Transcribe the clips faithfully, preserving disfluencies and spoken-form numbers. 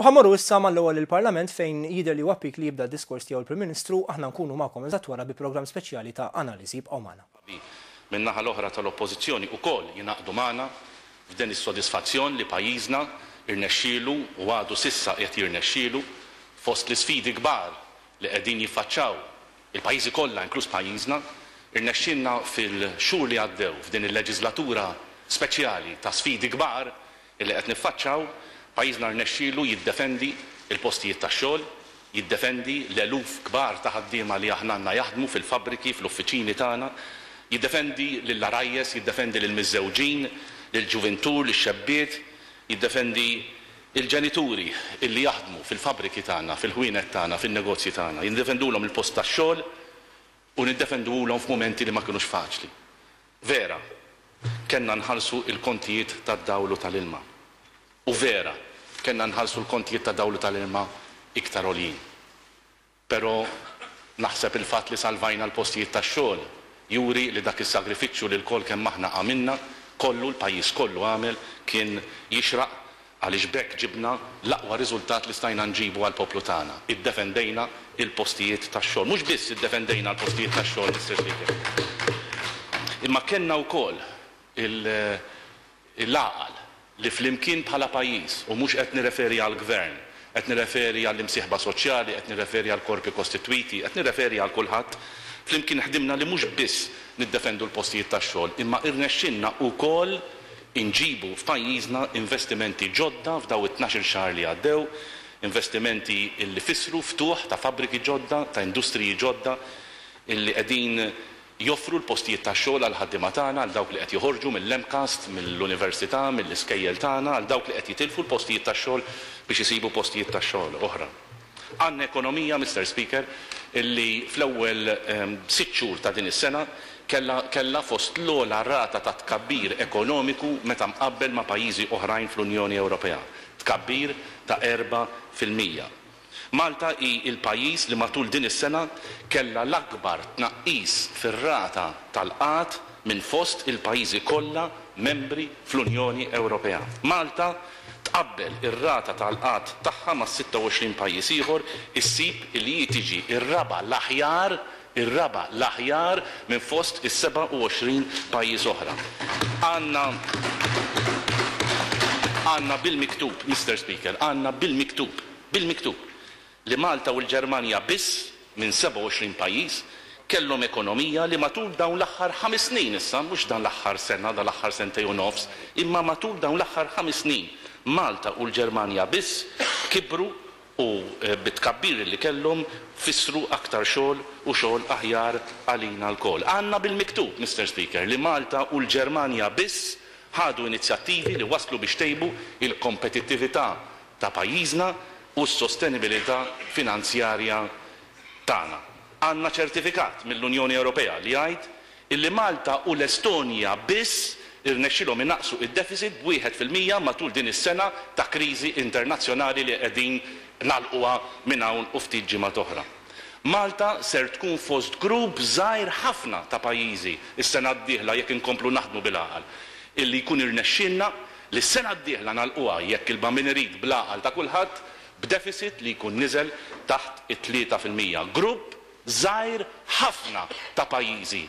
U ħa mmorru issa mal-ewwel il-Parlament, fejn jidher li huwa pik li jibda d-diskors tiegħu l-Prim Ministru. Aħna nkunu magħkom eżatt wara bi programm speċjali ta' analiżi. Ibqgħu magħna. Min-naħa l-oħra tal-Oppożizzjoni ukoll jingħaqdu magħna f'den is-sodisfazzjon li pajjiżna irnexxielu u għadu s'issa qed jirnexxielu, fost l-isfidi kbar li qegħdin jiffaċċaw il-pajjiżi kollha, inkluż pajjiżna, irnexxielna fil-xhur li għaddew f'din il-leġislatura speċjali ta' sfidi kbar illi qed niffaċċaw, pajjiżna rnexxielu jiddefendi il-postijiet tax-xogħol, jiddefendi l-eluf kbar ta' ħaddiema li aħna għandna jaħdmu fil-fabbriki, fl-uffiċini tagħna, jiddefendi lill-għarajjes, jiddefendi lill-miżżewġin, lill-ġuvintur, lix-xebbiet, jiddefendi il-ġenituri illi jaħdmu fil-fabbriki tagħna, fil-ħwienet tagħna, fin-negozji tagħna, jiddefendulhom il-post tax-xogħol u niddefenduhom f'mumenti li ma kinux faċli. Vera, kellna nħallsu il-kontijiet tad-dawl u tal-ilma. U vera, kellna nħallsu l-kontijiet ta' dawl u tal-ilma iktar għoljin. Però naħseb il-fatt li salvajna l-postijiet tax-xogħol juri li dak is-sagrifiċċju li lkoll kemm aħna għamilna, kollu l-pajjiż kollu għamel, kien jixraq, għaliex b'hekk ġibna l-aqwa riżultat li stajna nġibu għall-poplu tagħna. Iddefendejna il-postijiet tax-xogħol. Mhux biss iddefendejna l-postijiet tax-xogħol, Mister Speaker. Imma kellna wkoll il-għaqal li flimkien bħala pajjiż, u mhux qed nirreferi għall-gvern, qed nirreferi għall-imsieħba soċjali, qed nirreferi għall-korpi kostitwiti, qed nirreferi għal kulħadd, flimkien ħdimna li mhux biss niddefendu l-postijiet tax-xogħol, imma irnexxinna wkoll inġibu f'pajjiżna investimenti ġodda f'daw it-tnax-il xahar li għaddew, investimenti illi fissru ftuħ ta' fabbriki ġodda, ta' industriji ġodda, illi qegħdin joffru l-postijiet tax-xogħol għal ħaddiema tagħna, għal dawk li qed joħorġu mill-M CAST, mill-università, mill-iskejjel tagħna, għal dawk li qed jitilfu l-postijiet tax-xogħol biex isibu postijiet tax-xogħol oħra. Għandna ekonomija, Mister Speaker, illi fl-ewwel ehm, sitt xhur ta' din is-sena kella, kella fost l-ogħla rata ta' tkabbir ekonomiku meta mqabbel ma' pajjiżi oħrajn fl-Unjoni Ewropea. Tkabbir ta' erba' fil-mija. Malta hi il-pajjiż li matul din is-sena kella l-akbar tnaqqis fir-rata tal-qgħad minn fost il-pajjiżi kollha membri fl-Unjoni Ewropea. Malta tqabbel ir-rata tal-qgħad tagħha ma' sitta u għoxrin pajjiż ieħor, issib li hi tiġi ir-raba' l-aħjar ir-raba' l-aħjar minn fost is-sebgħa u għoxrin pajjiż oħra. Għandna għandna bil-miktub, Mister Speaker, għandna bil-miktub, bil-miktub, li Malta u l-Ġermanja biss minn sebgħa u għoxrin pajjiż kellhom ekonomija li matul dawn l-aħħar ħames snin issa, mhux dan l-aħħar sena, dan l-aħħar sentejn u nofs, imma matul dawn l-aħħar ħames snin, Malta u l-Ġermanja biss kibru u eh, bit-tkabbir li kellhom fissru aktar xogħol u xogħol aħjar għalina lkoll. Għandna bil-miktub, Mister Speaker, li Malta u l-Ġermanja biss ħadu inizjattivi li waslu biex tejbu il-kompetittività ta' pajjiżna u s-sostenibilità finanzjarja tagħna. Għandna ċertifikat mill-Unjoni Ewropea li jgħid illi Malta u l-Estonja biss irnexxilhom inaqqsu id-deficit b'wieħed fil-mija matul din is-sena ta' kriżi internazzjonali li qegħdin nagħlquha minn hawn u ftit ġimgħat oħra. Malta ser tkun fost grupp żgħir ħafna ta' pajjiżi is-sena d-dieħla, jekk inkomplu naħdmu bil-għaqal, illi jkun irnexxilna li s-sena d-dieħla nagħlquha, jekk il-Bambin irid, bl-għaqal ta' kulħadd, b'deficit li jkun niżel taħt it-tlieta fil-mija. Grupp żgħir ħafna ta' pajjiżi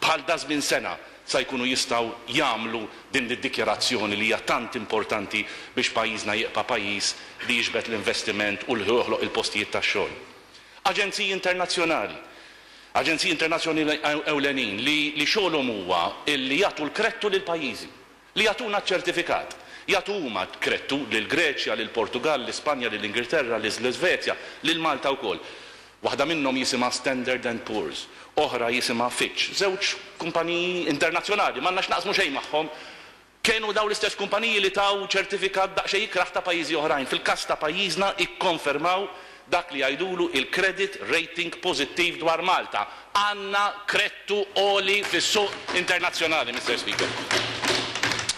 bħal da żmien sena sa jkunu jistgħu jagħmlu din id-dikjarazzjoni li hija tant importanti biex pajjiżna jibqa' pajjiż li jiġbed l-investiment u li joħloq il-postijiet tax-xogħol. Aġenziji internazzjonali, aġenziji internazzjonali ewlenin li, li xogħolhom huwa illi jagħtu l-krettu lil pajjiżi, li jagħtuna ċertifikat. Jagħtu huma krettu lil Greċja, lil Portugal, l-Ispanja, lil Ingilterra, l-Iżvezja, lil Malta wkoll. Waħda minnhom jisimha Standard and Poor's, oħra jisimha Fitch, żewġ kumpaniji internazzjonali, m'għandna x'naqsmu xejn magħhom. Kienu daw l-istess kumpaniji li taw ċertifikat daqsxejn ikrah ta' pajjiżi oħrajn. Fil-każ ta' pajjiżna ikkonfermaw dak li jgħidulu il-credit rating pożittiv dwar Malta. Għandna krettu għoli fis-suq internazzjonali, Mister Speaker.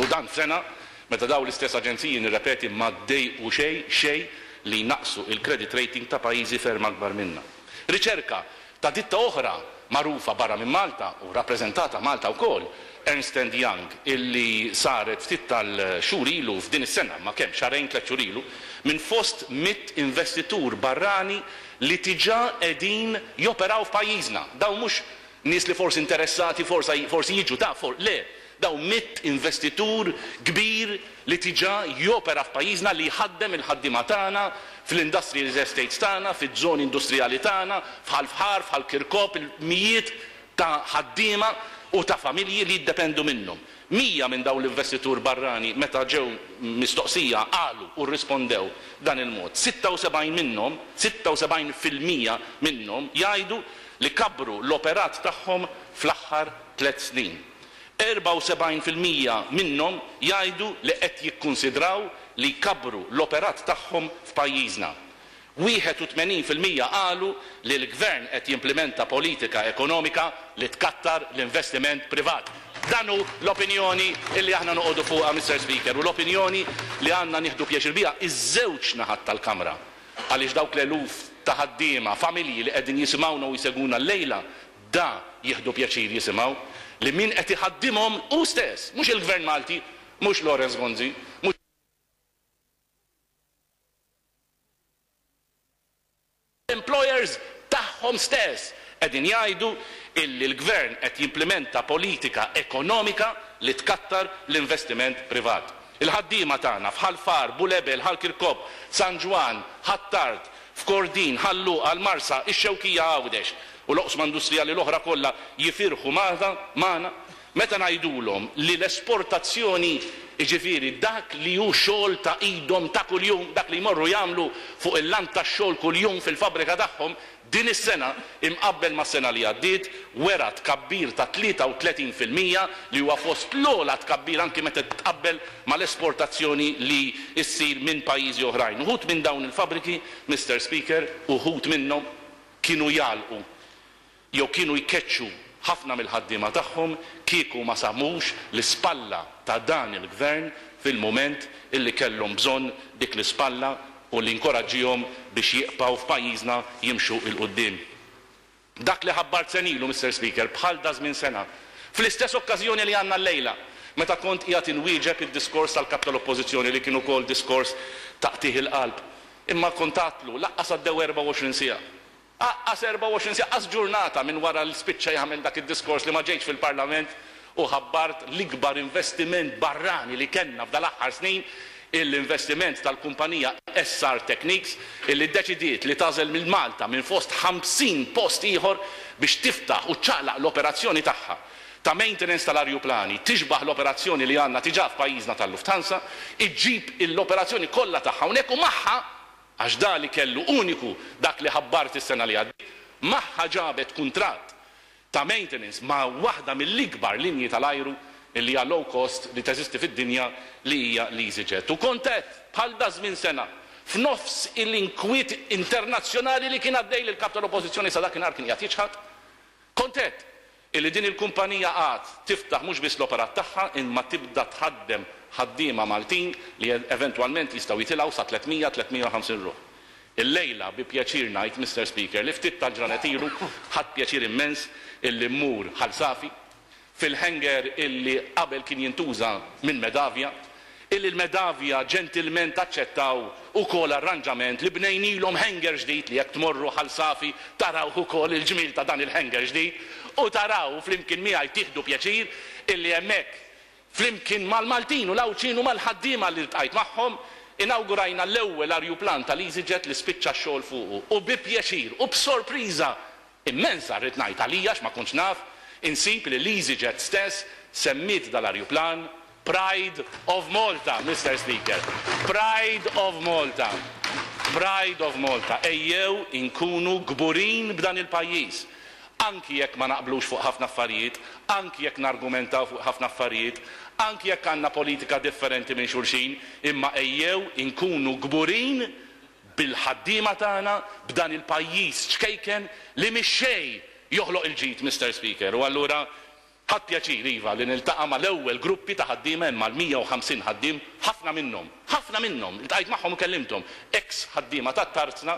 U dan sena meta daw l-istess aġenziji, nirrepeti, ma ddejqu xejn xejn li naqsu il-credit rating ta' pajjiżi ferm akbar minna. Riċerka ta' ditta oħra magħrufa barra minn Malta u rappreżentata Malta wkoll, Ernst and Young illi saret ftit tal-xhur ilu f'din is-sena, ma kemm xahrejn tliet xhur ilu, minn fost mitt investitur barrani li diġà qegħdin joperaw f'pajjiżna. Dawn mhux nies li forsi interessati, forsi jiġu ta' for, le, dawn mitt investitur kbir li diġà jopera f'pajjiżna, li jħaddem il-ħaddiema tagħna fl-industrial estates tagħna, fiż-żoni industrijali tagħna, f'Ħal Fħar, f'Ħal Kirkop, il-mijiet ta' ħaddiema u ta' familji li jiddependu minnhom. Mija minn dawn l-investitur barrani meta ġew mistoqsija qalu u rrispondew dan il-mod. sitta u sebgħin minnhom, sitta u sebgħin fil-mija minnhom jgħidu li kabru l-operat tagħhom fl-aħħar tliet snin. Erbgħa u sebgħin fil-mija minnhom jgħidu li qed jikkunsidraw li jkabru l-operat tagħhom f'pajjiżna. Wieħed u tmenin fil-mija qalu li l-gvern qed jimplementa politika ekonomika li tkattar l-investiment privat. Dan hu l-opinjoni illi aħna noqogħdu fuqha, Mister Speaker, u l-opinjoni li għandna nieħdu pjaċir biha iż-żewġ naħat tal-Kamra. Għaliex dawk l-eluf ta' ħaddiema, familji li qegħdin jisimgħuna u jsegwuna llejla, da jieħdu pjaċir jisimgħu li min qed iħaddimhom hu stess, mhux il-Gvern Malti, mhux Lawrence Gonzi, mhux employers tagħhom stess qegħdin jgħidu illi l-gvern qed jimplementa politika ekonomika li tkattar l-investiment privat. Il-ħaddiema tagħna f'Ħal Far, Bulebel, Ħal Kirkop, San Ġwann, Ħ'Attard, f'Kordin, Ħal Luqa, l-Marsa, ix-Xewkija Għawdex u l-oqsma industrijali l-oħra kollha jifirħu magħna meta ngħidulhom li l-esportazzjoni, jiġifieri dak li hu xogħol ta' idhom ta' kuljum, dak li jmorru jagħmlu fuq il-lant tax-xogħol kuljum fil-fabbrika tagħhom, din is-sena imqabbel mas-sena li għaddiet wera tkabbir ta' tlieta u tletin fil-mija li huwa fost l-ogħla tkabbir anki meta tqabbel mal-esportazzjoni li ssir minn pajjiżi oħrajn. Uħud minn dawn il-fabbriki, Mister Speaker, uħud minnhom kienu jagħlqu jew kienu jkeċċu ħafna mill-ħaddiema tagħhom kieku ma samux l-ispalla ta' dan il-gvern fil-mument illi kellhom bżonn dik l-ispalla u li nkoraġġihom biex jibqgħu f'pajjiżna jimxu 'l quddiem. Dak li ħabbart senilu, Mister Speaker, bħal da żmien sena, fl-istess okkażjoni li għandna llejla, meta kont qiegħed inwieġeb id-diskors tal-kap tal-Oppożizzjoni li kien ukoll diskors ta' qtigħ il-qalb, imma kont għadtlu laqqas għaddew erbgħa u għoxrin siegħa. Aqqas erbgħa u għoxrin siegħa, qas ġurnata minn wara li spiċċa jagħmel dak id-diskors li ma ġejtx fil-Parlament u ħabbart l-ikbar investiment barrani li kellna f'dal-aħħar snin, l-investiment tal-kumpanija S R Technics illi ddeċidiet li tażel minn Malta minn fost ħamsin post ieħor biex tiftaħ u ċċaqlaq l-operazzjoni tagħha ta' maintenance tal-arjuplani, tixbaħ l-operazzjoni li għandna diġà f'pajjiżna tal-Lufthansa, iġġib l-operazzjoni kollha tagħha hawnhekk u magħha, għax da li kellu uniku dak li ħabbart is-sena li għaddiet, magħha ġabet kuntratt ta' maintenance ma' waħda mill-ikbar linji tal-ajru li hija low cost li teżisti fid-dinja li hija l-EasyJet. U kontet bħal da żmien sena f'nofs il-inkwiet internazzjonali li kien għaddej lil kap tal-Oppożizzjoni sa dakinhar kien qiegħed jiċħad, kontet illi din il-kumpanija għad tiftaħ mhux biss l-operat tagħha imma tibda tħaddem ħaddiema Maltin li eventwalment jistgħu jitilgħu sa tliet mija, tliet mija u ħamsin ruħ. Illejla bi pjaċir ngħid, Mister Speaker, li ftit tal-ġranet ilu ħadd pjaċir immens illi mmur Ħal Safi fil-hangar illi qabel kien jintuża minn Medavia, illi l-Medavia ġentilment aċċettaw ukoll arranġament li bnejnilhom hangar ġdid li jekk tmorru Ħal Safi taraw ukoll il-ġmiel ta' dan il-hangar ġdid u taraw flimkien miegħi tieħdu pjaċir illi hemmhekk flimkien mal-Maltin u l-Għawdxin u mal-ħaddiema li ltqajt magħhom inawgurajna l-ewwel arjuplan tal-EasyJet li spiċċa x-xogħol fuqu u bi pjaċir u b'sorpriża immensa rrid ngħid għalija għax ma kontx naf insib li l-EasyJet stess semmiet dal-arjuplan Pride of Malta, Mister Speaker. Pride of Malta. Pride of Malta. Ejjew inkunu kburin b'dan il-pajjiż. Anki jekk ma naqblux fuq ħafna affarijiet, anki jekk nargumentaw fuq ħafna affarijiet, anki jekk għandna politika differenti minn xulxin, imma ejjew inkunu kburin bil-ħaddiema tagħna b'dan il-pajjiż ċkejken li mhix xejn joħloq il-ġid, Mister Speaker. U allura ħadd pjaċir iva li niltaqa' mal-ewwel gruppi ta' ħaddiema hemm mal-mija u ħamsin ħaddiem, ħafna minnhom, ħafna minnhom, iltqajt magħhom u kellimthom, ex ħaddiema tat-tarzna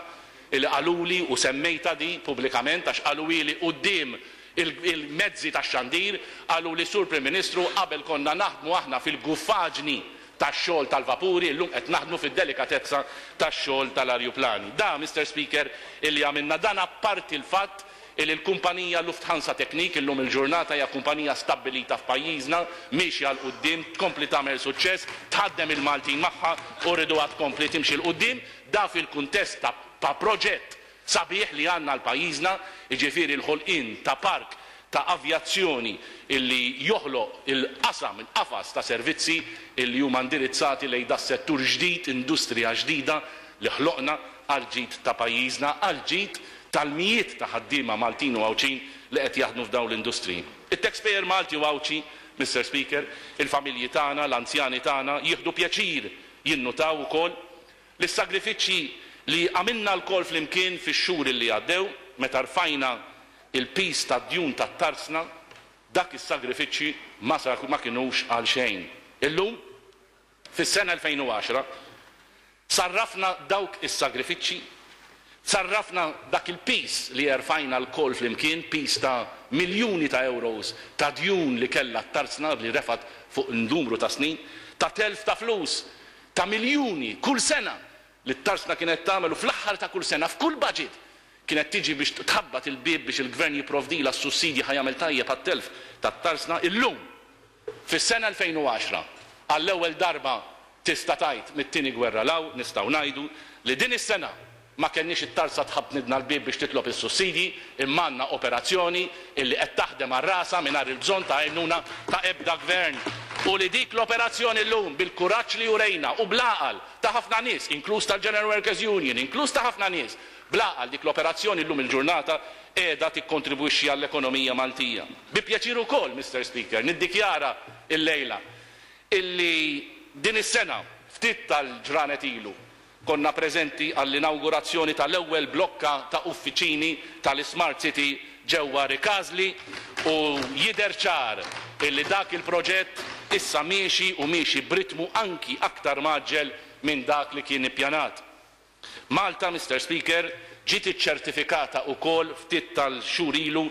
illi qaluli u semmejta di pubblikament għax qaluli quddiem Il-mezzi tax-xandir qalu li, Sur Prim Ministru, qabel konna naħdmu aħna fil-guffaġni tax-xogħol tal-vapuri, illum qed naħdmu fid-delikatezza tax-xogħol tal-arjuplani. Da, Mister Speaker, illi għamilna dan apparti l-fatt illi l-kumpanija Lufthansa Technik illum il-ġurnata hija kumpanija stabbilita f'pajjiżna, miexja 'l quddiem, tkompli tagħmel suċċess, tħaddem il-Maltin magħha u rriduha tkompli timxi 'l quddiem, da fil-kuntest ta', ta' proġett sabiħ li għandna għal pajjiżna, jiġifieri l-ħolqien ta' park ta' avjazzjoni illi joħloq il-qasam, il-qafas ta' servizzi illi huma indirizzati lejn da settur ġdid, industrija ġdida li ħloqna għal ġid ta' pajjiżna, għal ġid tal-mijiet ta' ħaddiema Maltin u Għawdxin li qed jaħdmu f'dawn l-industriji. It-taxpayer Malti u Għawdxi, Mister Speaker, il-familji tagħna, l-anzjani tagħna jieħdu pjaċir jinnutaw ukoll li s-sagrifiċċji li għamilna lkoll flimkien fix-xhur li għaddew meta rfajna il-piż tad-djun tat-tarzna, dak is-sagrifiċċji ma, ma kinux għal xejn. Illum, fis-sena elfejn u għaxra, sarrafna dawk is-sagrifiċċji, sarrafna dak il-piż li erfajna lkoll flimkien, piż ta' miljuni ta' euros ta' djun li kellha t-tarzna li refat fuq numru ta' snin, ta' telf ta' flus ta' miljuni kull sena li t-tarzna kienet tagħmel u fl-aħħar ta' kull sena f'kull budget kienet tiġi biex tħabbat il-bieb biex il-gvern jipprovdilha s-sussidji ħa jagħmel tajjeb għat-telf tat-tarzna. Illum, fis-sena elfejn u għaxra, għall-ewwel darba tista' tgħid mit-tieni gwerra law nistgħu ngħidu li din is-sena ma kenniex it-tarza tħabbnidna l-bieb biex titlob is-sussidji, imma għandna operazzjoni illi qed taħdem għal rasha mingħajr il-bżonn ta' għajnuna ta' ebda gvern. U li dik l-operazzjoni llum bil-kuraġġ li urejna u bl-għaqal ta' ħafna nies, inkluż tal-General Workers Union, inkluż ta' ħafna nies, bl-għaqal dik l-operazzjoni llum il-ġurnata qiegħda tikkontribwixxi għall-ekonomija Maltija. Bi pjaċir ukoll, Mister Speaker, niddikjara illejla illi din is-sena ftit tal-ġranet ilu konna preżenti għall-inawgurazzjoni tal-ewwel blokka ta' uffiċini tal-Smart City ġewwa Rikażli u jidher ċar illi dak il-proġett issa miexi u miexi b'ritmu anki aktar maġġel minn dak li kien ippjanat. Malta, Mister Speaker, ġiet iċċertifikata wkoll ftit tal-xhur ilu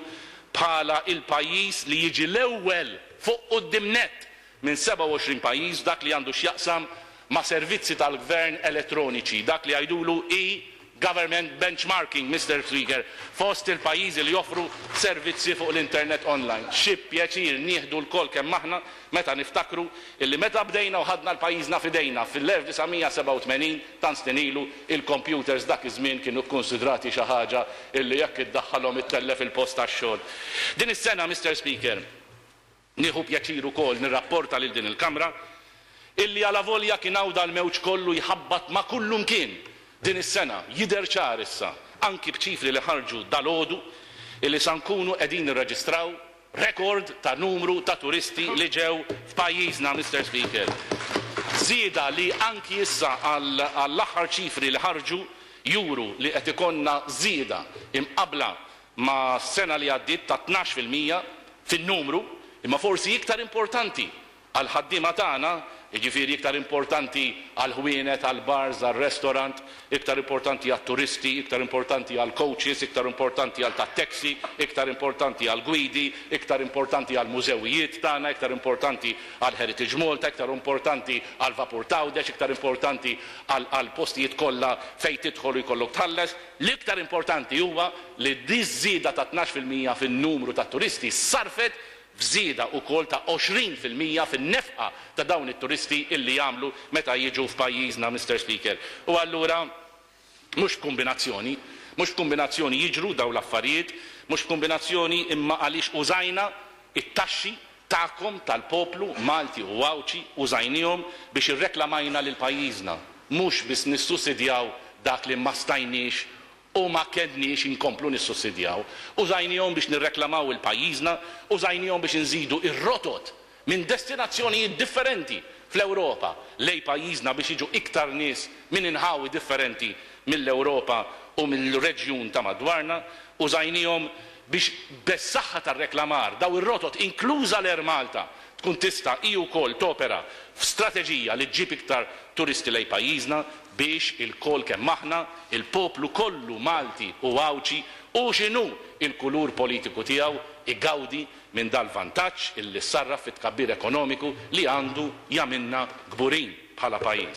bħala il-pajjiż li jiġi l-ewwel fuq quddiem nett minn sebgħa u għoxrin pajjiż dak li għandu x'jaqsam ma' servizzi tal-gvern elettroniċi, dak li jgħidulu e-government benchmarking, Mister Speaker, fost il-pajjiżi li joffru servizzi fuq l-internet online. Xi pjaċir nieħdu lkoll kemm aħna meta niftakru illi meta bdejna u ħadna l-pajjiżna f'idejna fil-elf disa' mija sebgħa u tmenin tant snin ilu il-computers dak iż-żmien kienu kkonsidrati xi ħaġa illi jekk iddaħħalhom ittellef il-post tax-xogħol. Din is-sena, Mister Speaker, nieħu pjaċir ukoll nirrapporta lil din il-Kamra illi għala volja kien hawn dal-mewġ kollu jħabbat ma' kullum kien din is-sena jidher ċar issa anki b'ċifri li ħarġu dalgħodu illi sa nkunu qegħdin nirreġistraw rekord ta' numru ta' turisti li ġew f'pajjiżna, Mister Speaker. Żieda li anki issa għall-aħħar ċifri li ħarġu juru li qed ikollna żieda imqabbla ma' sena li għaddiet ta' tnax fil-mija fin-numru, imma forsi iktar importanti għal ħaddiema tagħna, jiġifieri iktar importanti għal ħwienet, għal bars, għal restaurant, iktar importanti għat turisti, iktar importanti għal coaches, iktar importanti għal tat-taxi, iktar importanti għal gwidi, iktar importanti għal mużewijiet tagħna, iktar importanti għal Heritage Malta, iktar importanti għal Vapur Tgħawdex, iktar importanti għal, għal postijiet kollha fejn tidħol u jkollok tħalles. L-iktar importanti huwa li di żieda ta' tnax fil-mija fin-numru ta' turisti sarfet f'żieda wkoll ta' għoxrin fil-mija fin-nefqa ta' dawn it-turisti illi jagħmlu meta jiġu f'pajjiżna, Mister Speaker. U allura mhux b'kombinazzjoni, mhux b'kombinazzjoni jiġru dawn l-affarijiet, mhux b'kombinazzjoni imma għaliex użajna it-taxxi tagħkom tal-poplu Malti u Għawdxi, użajnihom biex irreklamajna lil pajjiżna, mhux biss nissussidjaw dak li ma stajniex u ma kedniex inkomplu nissussidjaw. Użajnihom biex nirreklamaw il-pajjiżna, użajnihom biex inżidu ir-rotot minn destinazzjonijiet differenti fl-Ewropa lej pajjiżna biex jiġu iktar nies minn inħawi differenti mill-Ewropa u mill-reġjun ta' madwarna. Użajnihom biex bis-saħħa tar-reklamar daw ir-rotot inkluża l-Air Malta tkun tista' hi wkoll topera f'strateġija li ġġib iktar turisti lej pajjiżna biex il-kol kemm aħna, il-poplu kollu Malti u Għawdxi u x'inhu il-kulur politiku tiegħu igawdi minn dal-vantaġġ illi sarraf fit-tkabbir ekonomiku li għandu jagħmilna kburin bħala pajjiż.